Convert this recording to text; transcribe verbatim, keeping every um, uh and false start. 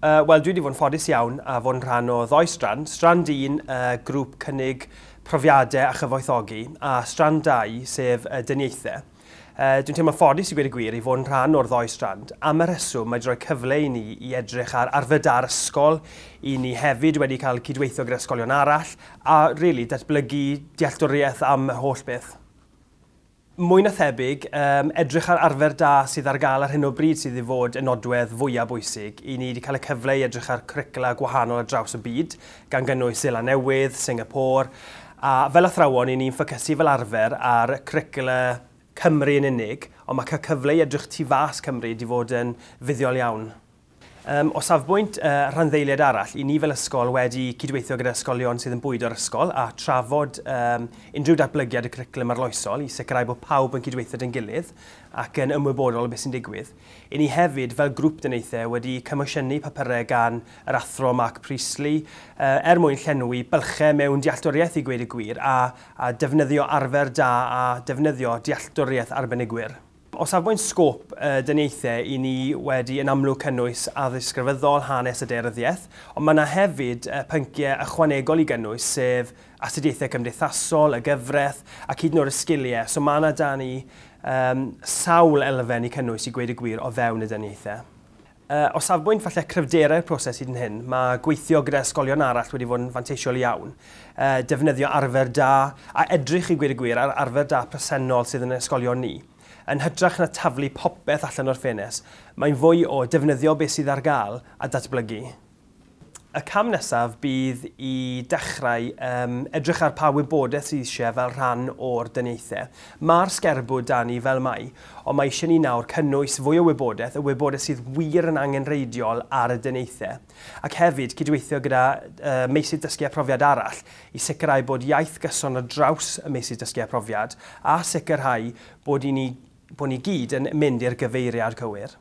Uh, Wel, dwi wedi fod yn ffodus iawn a fod yn rhan o ddoi strand. Strand un, uh, grŵp cynnig profiadau a chyfoethogi, a strand dau, sef uh, dyniaethau. Uh, dwi'n teimlo ffodus i gweud y gwir i fod yn rhan o'r ddoi strand. Am y rheswm, mae wedi rhoi cyfle i ni i edrych ar arfer da'r ysgol, i ni hefyd wedi cael cydweithio gyda ysgolion arall, a really datblygu dealltwriaeth am y holl beth. Mwy na thebyg, um, edrych ar arfer da sydd ar gael ar hyn o bryd sydd i fod yn nodwedd fwyaf bwysig. I ni wedi cael y cyfle i edrych ar cwricwla gwahanol ar draws y byd, gan gynnwys Seland Newydd, Singapore, a fel athrawon, i ni'n ffocysu fel arfer ar cwricwla Cymru yn unig, ond mae cael cyfle i edrych tu fas Cymru wedi fod yn fuddiol iawn. Um, o safbwynt uh, rhanddeiliad arall, i ni fel ysgol wedi cydweithio gyda ysgolion sydd yn bwydo'r ysgol a trafod um, unrhyw datblygiad y cwricwlwm arloesol i sicrhau bod pawb yn cydweithio dy'n gilydd ac yn ymwybodol o beth sy'n digwydd. I ni hefyd, fel grŵp dyniaethau, wedi comisiynu papurau gan yr athro Mark Priestley uh, er mwyn llenwi bylchau mewn dealltwriaeth i gweud y gwir a, a defnyddio arfer da a defnyddio dealltwriaeth arbenigwyr. O safbwynt sgôp uh, dyniaethau, i ni wedi yn amlwg cynnwys addysg grefyddol, hanes a daearyddiaeth, ond mae yna hefyd uh, pynciau ychwanegol i gynnwys, sef astudiaethau cymdeithasol, y gyfraith, ac hyd yn oed y sgiliau. So mae yna da ni um, sawl elfen i cynnwys i gweud y gwir o fewn y dyniaethau. Uh, o safbwynt falle cryfderau'r proses hyd yn hyn, mae gweithio gyda ysgolion arall wedi fod yn fanteisiol iawn. Uh, defnyddio arfer da a edrych i gweud y gwir ar arfer da presennol sydd yn ysgolion ni. Yn hytrach na taflu popeth allan o'r ffenest, mae'n fwy o defnyddio beth sydd ar gael a datblygu. Y cam nesaf bydd i dechrau um, edrych ar pa wybodaeth sydd eisiau fel rhan o'r dyniaethau. Mae'r sgerbwd da ni fel mai, ond mae eisiau ni nawr cynnwys fwy o wybodaeth, y wybodaeth sydd wir yn angenrheidiol ar y dyniaethau. Ac hefyd cydweithio gyda uh, meysydd dysgu a profiad arall i sicrhau bod iaith gyson ar draws y meysydd dysgu a profiad a sicrhau bod, i ni, bod ni gyd yn mynd i'r gyfeiriad cywir.